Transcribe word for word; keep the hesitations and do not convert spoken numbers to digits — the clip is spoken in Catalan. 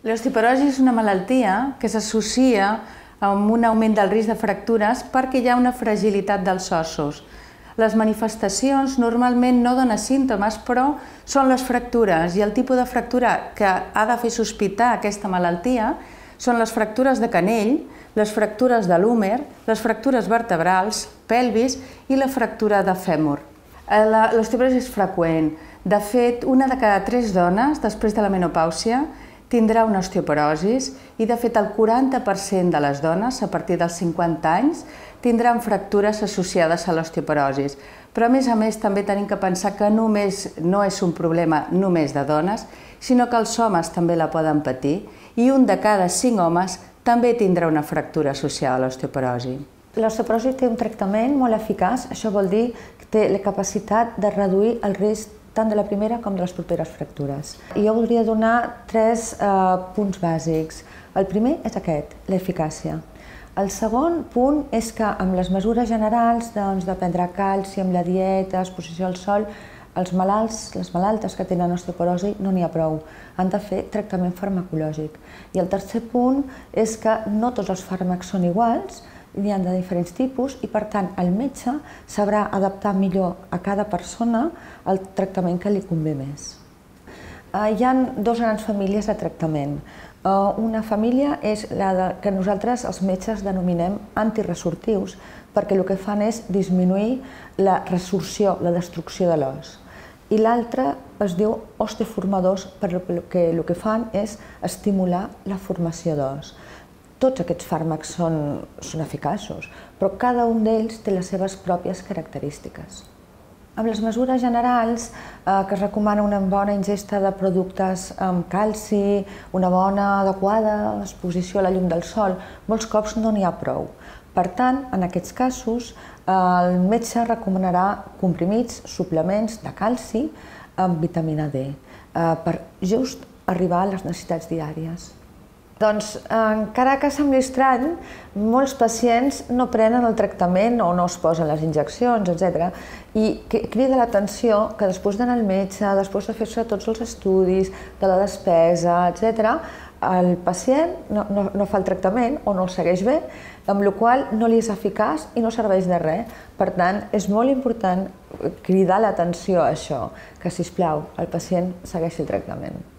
L'osteoporosi és una malaltia que s'associa amb un augment del risc de fractures perquè hi ha una fragilitat dels ossos. Les manifestacions normalment no donen símptomes, però són les fractures, i el tipus de fractura que ha de fer sospitar aquesta malaltia són les fractures de canell, les fractures de l'húmer, les fractures vertebrals, pelvis i la fractura de fèmur. L'osteoporosi és freqüent. De fet, una de cada tres dones, després de la menopàusia, tindrà una osteoporosi i, de fet, el quaranta per cent de les dones, a partir dels cinquanta anys, tindran fractures associades a l'osteoporosi. Però, a més a més, també tenim que pensar que només no és un problema només de dones, sinó que els homes també la poden patir, i un de cada cinc homes també tindrà una fractura associada a l'osteoporosi. L'osteoporosi té un tractament molt eficaç, això vol dir que té la capacitat de reduir el risc tant de la primera com de les properes fractures. Jo voldria donar tres punts bàsics. El primer és aquest, l'eficàcia. El segon punt és que amb les mesures generals de prendre calci, amb la dieta, exposició al sol, els malalts, les malaltes que tenen osteoporosi no n'hi ha prou. Han de fer tractament farmacològic. I el tercer punt és que no tots els fàrmacs són iguals, n'hi ha de diferents tipus i, per tant, el metge sabrà adaptar millor a cada persona el tractament que li convé més. Hi ha dues grans famílies de tractament. Una família és la que nosaltres, els metges, denominem antiresortius, perquè el que fan és disminuir la resorció, la destrucció de l'os. I l'altra es diu osteoformadors, perquè el que fan és estimular la formació d'os. Tots aquests fàrmacs són eficaços, però cada un d'ells té les seves pròpies característiques. Amb les mesures generals, que es recomana una bona ingesta de productes amb calci, una bona adequada exposició a la llum del sol, molts cops no n'hi ha prou. Per tant, en aquests casos, el metge recomanarà comprimits, suplements de calci amb vitamina D, per just arribar a les necessitats diàries. Doncs, encara que sembli estrany, molts pacients no prenen el tractament o no es posen les injeccions, etcètera. I crida l'atenció que després d'anar al metge, després de fer-se tots els estudis, de la despesa, etcètera, el pacient no fa el tractament o no el segueix bé, amb la qual cosa no li és eficaç i no serveix de res. Per tant, és molt important cridar l'atenció a això, que, sisplau, el pacient segueixi el tractament.